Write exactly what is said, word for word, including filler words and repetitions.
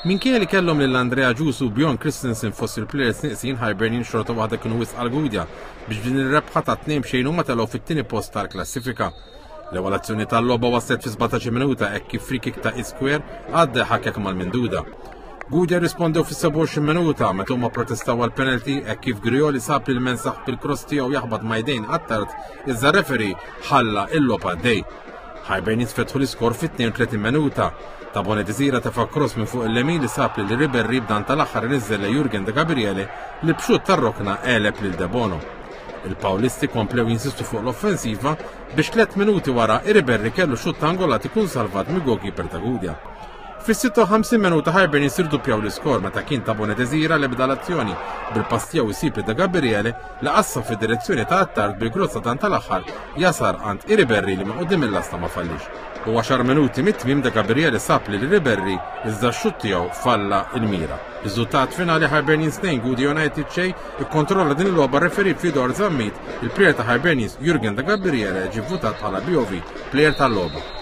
Minkejja li kellhom lil Andrea Ġusu u Bjorn Christensen fost il-players neqsin, Hibernian xorta waħda kienu wisq għal Gudja biex din ir-rebħa ta' tnejn b'xejn huma telgħu fit-tieni post tal-klassifika. L-ewwel azzjoni tal-logħba waslet fi sbatax-il minuta hekk kif free kick ta' Isquare għadda ħakkek mal-minduda. Gudja rispondew fis-sebgħa u għoxrin minuta meta huma protestaw għal penalty hekk kif Grioli sab lil Mensaħ bil-cross tiegħu jaħbad ma' jdejn Attard, iżda referee ħalla il-logħba għaddej. Hibernians fetħu l-iskor fit-tnejn u tletin minuta. Tabone Desira tefa' cross minn fuq il-lemin li sab lil Ribery, b'dan tal-aħħar niżel lil Jurgen De Gabriele li b'xut tar-rokna għeleb lil Debono. Il-Pawlisti komplew jinsistu fuq l-offensiva biex tliet minuti wara Ribery kellu xutt angolat ikun salvat mill goalkeeper ta' Gudja. Fis-sitta u ħamsin minuta Hibernians irduppjaw l-iskor meta kien Tabone Desira li bda l-azzjoni bil-pass tiegħu jsib De Gabriele li qassam fid-direzzjoni ta' Attard, bil-cross dan tal-aħħar jasal għand Iriberri li minn quddiem il-lasta ma fallix. U għaxar minuti mit-tmiem De Gabriele sab lil Ribery, iżda x-xutt tiegħu falla il-mira. Riżultat finali Hibernians tnejn, Gudja United xejn. Ikkontrolla din il-logħba referee Fidor Zammit. Il-player ta' Hibernians Jurgen De Gabriele ġie votat bħala B O V player tal-logħba.